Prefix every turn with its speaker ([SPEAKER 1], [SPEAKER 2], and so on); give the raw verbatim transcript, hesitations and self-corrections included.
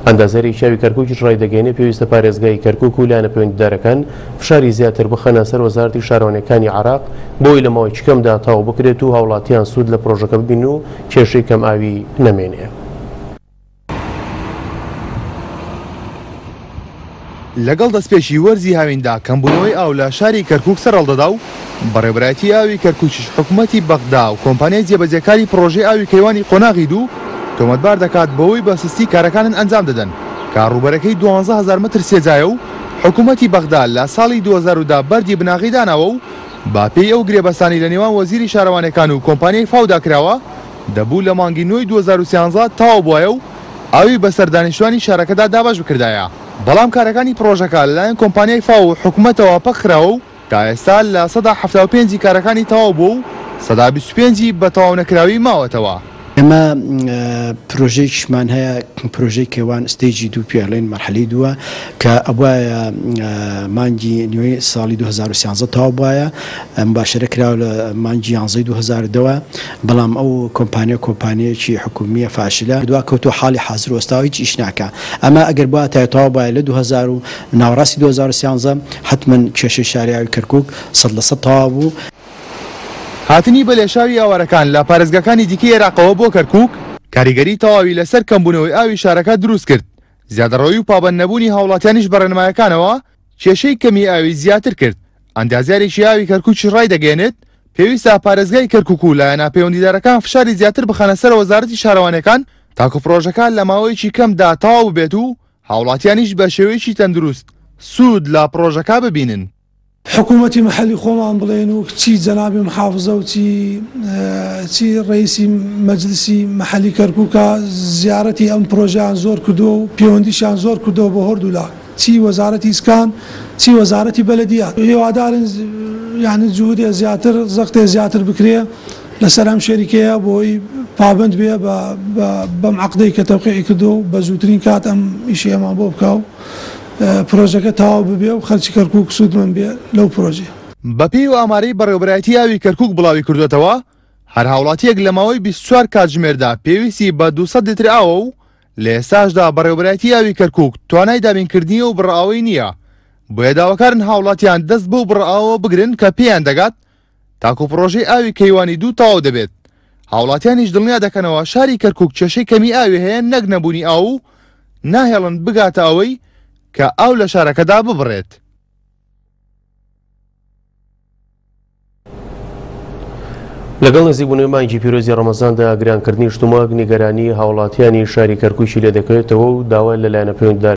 [SPEAKER 1] ئەندازیارێکی ئاوی کەرکووکیش ڕایدەگەیەنێ پێویستە پارێزگای کەرکووک و لایەنە پەیوەندیدارەکان فشاری زیاتر بخەنە سەر وەزارەتی شارەوانیەکانی عێراق بۆی لە ماوەیەکی کەمدا تەواو بکرێت و هاوڵاتیان سوود لە پرۆژەکە ببین و کێشەی کەم ئاوی نەمێنێ.
[SPEAKER 2] لەگەڵ دەستپێکی وەرزی هاویندا کەمبوونەوەی ئاو لە شاری کەرکووک سەرهەڵدەدا و بەڕێوەبەرایەتی ئاوی کەرکووکیش حکوومەتی بەغدا و کۆمپانیای جێبەجێکاری پرۆژەی ئاوی کەیوانی قۆناغی دوو تۆمەتبار دەکات بەوەی بە سستی کارەکانن ئەنجام دەدەن کە ڕووبەرەکەی دوانزە هەزار متر سێجایە و حکوومەتی بەغدا لە ساڵی دوو هەزار و دە بەردی بناغەی داناوە و با پێی ئەو گرێبەستانی لە نێوان وەزیری شارەوانەکان و کۆمپانیای فاودا کراوە دەبوو لە مانگی نۆی دوو هەزار و سیانزە تەواو بوایە و ئاوی بەسەر دانیشتوانی شارەکەدا دابەش بکردایە. بەڵام کارەکانی پرۆژەکە لەلایەن کۆمپانیای فاو و حکوومەتەوە پەکخراوە و تا ئێستا لە سەدا حەفتا و پێنجی کارەکانی تەواو بووە و سەدا بیست و پێنجی بە تەواو نەکراوی ماوەتەوە.
[SPEAKER 3] ئێمە پرۆژەیەکیشمان هەیە، پرۆژەی کەیوان stage ی دوو پێڵێن مەرحەلەی دووە کە ئەبوایە مانگی نوێی ساڵی دوو هەزار و سیانزە تەواو بوایە، مباشرە کراوە لە مانگی یانزەی دوو هەزار و دەوە، بەڵام ئەو کۆمپانیا کۆمپانیەکی حکومیە فاشلە دوا کەوتۆ حاڵی حاضر وەستاوە هیچ ئیش ناکا. ئەمە ئەگەر بواتایە تەواو بوایە لە دوو هەزار و ناوەڕاستی دوو هەزار و سیانزە حتمەن کێشەی شاری ئاوی کەرکووک سەد لە سەد تەواو بوو.
[SPEAKER 2] هاتنی بەلێشاوی ئاوارەکان لە پارێزگاکانی دیکەی عێراقەوە بۆ کەرکووک کاریگەری تەواوی لەسەر کەمبوونەوەی ئاوی شارەکە دروست کرد. زیادەڕەوی و پابەند نەبوونی هاوڵاتیانیش بە ڕێنمایەکانەوە کێشەی کەمی ئاوی زیاتر کرد. ئەندازیارێکی ئاوی کەرکووکی ڕایدەگەیەنێت پێویستە پارێزگای کەرکووک و لایەنە پەیوەندیدارەکان فشاری زیاتر بخەنە سەر وەزارەتی شارەوانیەکان تاکو پرۆژەکە لە ماوەیەکی کەمدا تەواو ببێت و هاوڵاتیانیش بە شێوەیەکی تەندروست سوود لە پرۆژەکە ببینن.
[SPEAKER 4] حکوومەتی محەلی خۆمان بڵێن و چی جەنابی محافزە و چی چی ڕئیسی مەجلسی محەلی کەرکووکە زیارەتی ئەم پرۆژەیان زۆر کردووە و پەیوەندیشیان زۆر کردووە بۆ هەردوولا، چی وەزارەتی ئیسکان چی وەزارەتی بەلەدیات. هیوادارن یعنی جهودێ زیاتر زەختێ زیاتر بکرێ لەسەر ئەم شەریکەیە بۆی پابند بێ بەم عەقدەی کە تەوقیعی کردووە و بە زووترین کات ئەم ئیشی ئێمان بۆ بکا و پرۆژەکە تەواو ببێ و خەلکی کەرکووک سوودمەند بێ لەو پرۆژەیە.
[SPEAKER 2] بەپێی و ئامارەی بەڕێوەبەرایەتی ئاوی کەرکووک بڵاوی کردوێتەوە هەر هاوڵاتیەک لە ماوەی بیست و چوار کاتژمێردا پێویستی بە دوو سەد لیتر ئاوە و لە ئێستاشدا بەڕێوەبەرایەتی ئاوی کەرکووک توانای دابینکردنی ئەو بڕە ئاوەی نییە، بۆیە داواکارن هاوڵاتیان دەست بەو بڕە ئاوە بگرن کە پێیان دەگات تاکو پرۆژەی ئاوی کەیوانی دوو تەواو دەبێت. هاوڵاتیانیش دڵنیا دەکەنەوە شاری کەرکووک کێشەی کەمی ئاوی هەیە نەک نەبوونی ئاو و ناهێڵن بگاتە ئەوەی کە ئاو لە شارەکەدا ببڕێت.
[SPEAKER 1] لەگەڵ نزیکبوونەوەی مانگی پیرۆزی ڕەمەزاندا گرانکردنی شتومەک نیگەرانی هاوڵاتیانی شاری کەرکووکی لێ دەکەوێتەوە و داوا لە لایەنە پەیوەندیدار